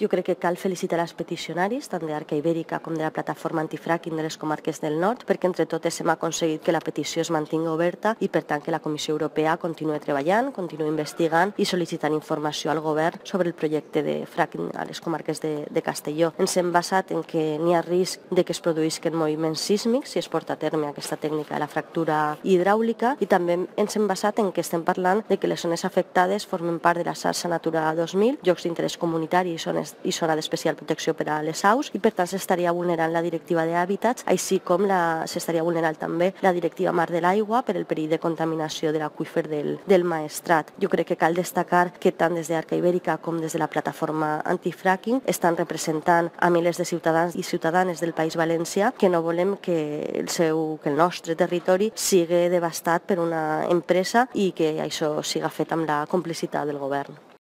Jo crec que cal felicitar els peticionaris, tant d'Arca Ibèrica com de la plataforma antifracking de les comarques del nord, perquè entre totes hem aconseguit que la petició es mantingui oberta i per tant que la Comissió Europea continuï treballant, continuï investigant i sol·licitant informació al govern sobre el projecte de fracking a les comarques de Castelló. Ens hem basat en que n'hi ha risc de que es produïsquen moviments sísmics si es porta a terme aquesta tècnica de la fractura hidràulica i també ens hem basat en que estem parlant de que les zones afectades formen part de la xarxa Natura 2000, llocs d'interès comunitari i zona d'especial protecció per a les aus i per tant s'estaria vulnerant la directiva d'hàbitats, així com s'estaria vulnerant també la directiva Mar de l'Aigua per el perill de contaminació de l'aqüífer del Maestrat. Jo crec que cal destacar que tant des d'Arca Ibèrica com des de la plataforma antifracking estan representant a milers de ciutadans i ciutadanes del País Valencià que no volem que el nostre territori sigui devastat per una empresa i que això siga fet amb la complicitat del govern.